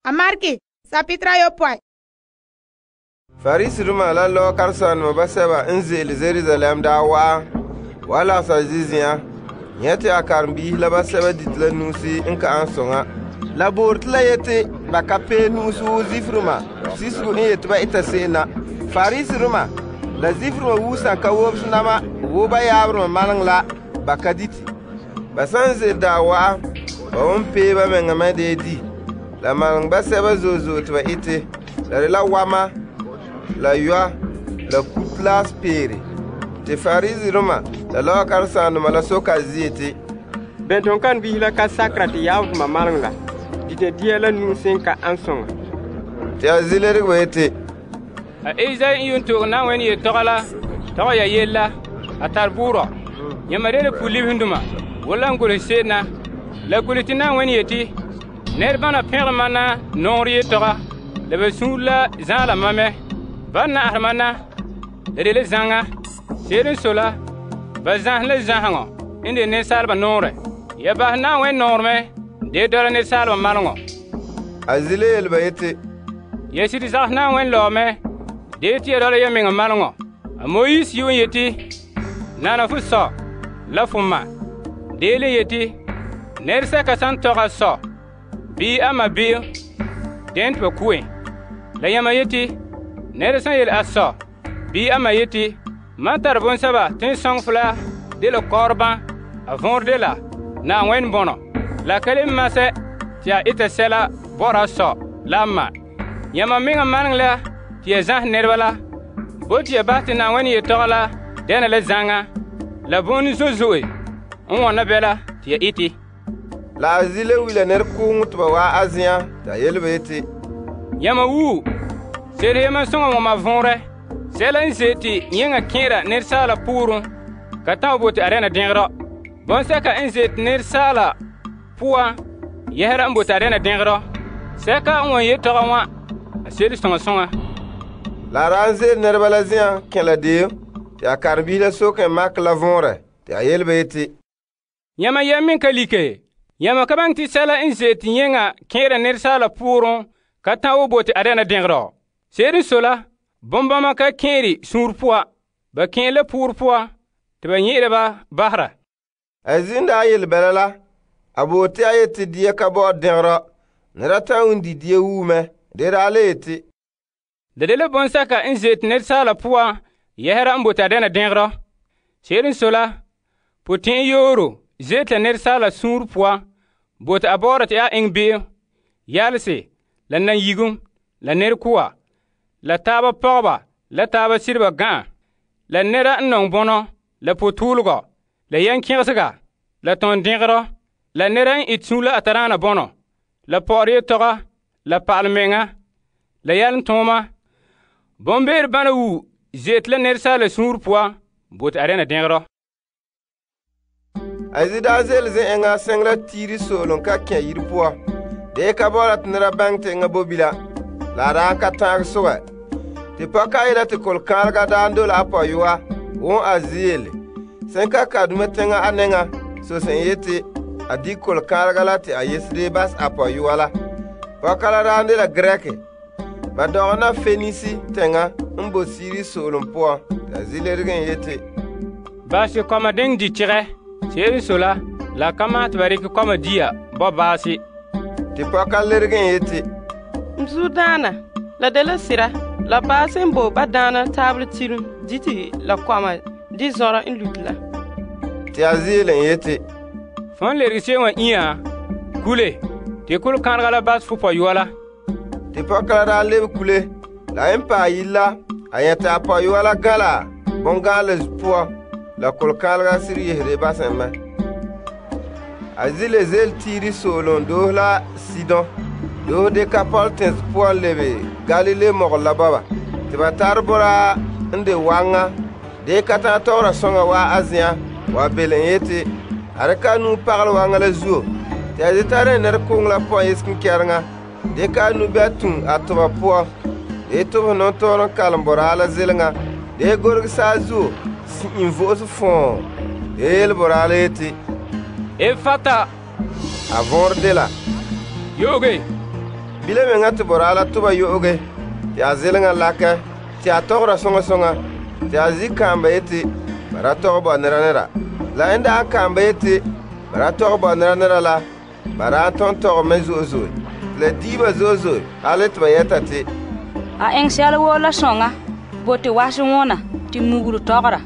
A Marki, sapitra ayopɔe. Fariserima la lɔɔ karesanema basɛba n ze'ele Jerusalem daa wa'a wa lagesa zizi'an nyɛ te a karenbiisi la basɛba dite la nu'usi n ka an soŋa. La boore te la yete ba ka pee nu'usi wo Zifrima sisego n yete ba eta se'em na. Fariserima la Zifrima wuusan ka wobsonama wo ba yaaberema maleŋ la ba ka dite. Ba san ze'ele daa wa'a ba won pee ba meŋa mɛ dee di. La maleŋ basɛba zo'e zo'e te ba ete. La de la wama, la yoa, la kutlas peere. Te Fariserima la lɔɔ karesanema la soka a zie te, bɛn ton kan bihi la ka sakera te yaabdoma maleŋ la dite dia la nu'usi n ka an soŋa. Te a zilerege ba yete, A Isai n yun to'e Na'ayenɛ yetɔgɔ la tɔgɔ ya yele la a tare buurɔ. Yãmba de la pu-libsdoma wala n golehɛ se'em na. La golehɛ te Na'ayenɛ yeti, nɛrebana pɛngere mam na nɔŋerɛ yetɔga la ba suunre la zaala mam mɛ. Ba na'ahɛ mam na la de la zaŋa. Se'ere n sɔe la, ba zãhɛ la zãhaŋɔ n de nensaalba nɔɔrɛ. Ya bahɛ Na'ayenɛ nɔɔrɛ mɛ de dɔla nensaalba maleŋɔ. a zile yele ba yete, Ya sire zagahɛ Na'ayenɛ lɔɔ mɛ de te ya dɔla ya meŋa maleŋɔ. A Moise yuun yeti, nana fo sɔ la fo ma. Deele yeti, nɛresɛka san tɔgɛ a sɔ bii a ma be'em, den te ba ku'e. La yãmba yeti, nɛra san yele a sɔ bii a ma yeti, mam tare bonsɛba te n sɔŋɛ fo la de la kɔɔrebã, a võor de la Na'ayenɛ bɔnɔ. La ka le masɛ te a eta sɛla bɔra a sɔ la a ma. Yãmba meŋa maleŋ la te ya zãhɛ nɛreba la, bo te ya bahɛ te Na'ayenɛ yetɔgɔ la dɛna la zaŋa, la bõone zo'e zo'e n wɔna bɛla te ya ete. la a zile wila nɛrekooŋɔ te ba waa a zen'an te a yele ba yete, Yãmba wuu, se'ere yamam soŋa wãma võorɛ, sɛla n ze te yẽŋa kẽera nɛresaala pʋʋrẽ ka tã wa bote a dɛna dẽgerɔ. Bõnsɛka n ze te nɛresaala pʋga yɛsera n bote a dɛna dẽgerɔ. Sɛka n wan yetɔgɔ wã, a se'ere sõŋa sõŋa. la a daa n ze'ele nɛreba la zen'an kẽ la deem te a karenbiisi la soke n makɛ la võorɛ te a yele ba yete, Yãmba yɛm meŋ ka like. Yãmba ka baŋɛ te sɛla n ze te yẽŋa kẽera nɛresaala pʋʋrẽ ka tã wa bote a dɛna dẽgerɔ. Se'ere n sɔe la, bombama ka kẽere suunre poa, ba kẽe la pʋʋrɛ poa te ba nyɛ'ɛra ba basera. a zin daa yele bɛla la, a boote a yete dia ka bɔ'ɔr dẽgerɔ, nɛra ta'an wun di dia wuu mɛ. De daa le yete, Da de la bõnsɛka n ze te nɛresaala pʋga yɛsera n bote a dɛna dẽgerɔ. Se'ere n sɔe la, potɛn'ɛn yooro ze te la nɛresaala suunre poa bote a bɔɔra te a eŋɛ be'em, yalese, la nan-yigum, la nɛrekoa, la taaba pɔgɔba, la taaba sireba gã'a, la nɛra n nɔŋɛ bɔnɔ, la potʋʋlegɔ, la yɛn-kẽgesega, la tɔn-dẽgerɔ, la nɛra n ete suunre la a tadaana bɔnɔ, la pɔgɔrɛ yetɔga, la pa'alemeŋa, la yalomtɔɔma. Bombeere bana wuu ze te la nɛresaala suunre poa bote a dɛna dẽgerɔ. a zi daa ze'ele zen-eŋa sɛŋ la tiiri soolem ka kẽ yiri poa. Dee ka bɔra te nɛra baŋɛ te eŋa bo bila, la a daa ka tãag sogɛ. Te pɔka yela te kolkãalega daa n dole a pɔyɔa won a zi yele. Sẽn ka dume teŋa a nɛŋa sose n yete a di kolkãalega la te a yesede bas a pɔyɔa la. Pɔka la daa n de la Grɛke. Ba dɔgɛ na Fenisi teŋa n bo siiri soolem poan. Te a zilerege n yete, Baase kɔma diŋ di tɩgɛ. Se'ere n sɔe la ka maɛ tɩ ba rɩkɛ kɔma dia bɔ baase. te pɔka lerege n yete, M zudaana, la de la sira, la baase n bo ba daana taabere tirim dite la kɔma di zɔrɔ n luti la. te a zeele n yete, Fõn lerge se'em wã ĩyã, kule, tɩ kʋl-kãnega la bas fo pɔyɔa la. te pɔka la daa lebe kule. La en paɛ yire la, a nyɛte a pɔyɔa la gã la bõn-gãanle poa, la kolkãalega sir yesede basẽ mɛ. A zile zeele tiiri soolem doose la Sidon, doose Dekapɔltens poan lebe Galile mɔgɔ la bɔba. Te ba tare boraa n de waŋa, dee ka tã tɔgɔra sõŋa waa a zen'an wa bele n yete, a dɩka a nu pagelɛ waŋa la zuo. Te a zetare nɛrekooŋ la pɔn yesken kɛreŋa, dee ka a nu be a tum a toba poan, dee tobs nɔntɔɔrem kalem boraa la zeleŋa, dee gorge saazuo si'in vo'ose fõo, dee yele boraa la yete, Efata, a võor de la, yooge. Bilam meŋa te boraa la toba yo'oge te a zeleŋa lakɛ te a tɔgɔra soŋa soŋa te a zi kaam ba yeti ba da tɔgɛ bo nera nera. La n daa kaam ba yeti ba da tɔgɛ bo nera nera la, ba daa tɔn tɔgɛ mɛ zo'e zo'e. Te la dii ba zo'e zo'e hale te ba yɛta te, a eŋɛ sɛla woo la soŋa bo te wasɛ wona te muguru tɔgɔra.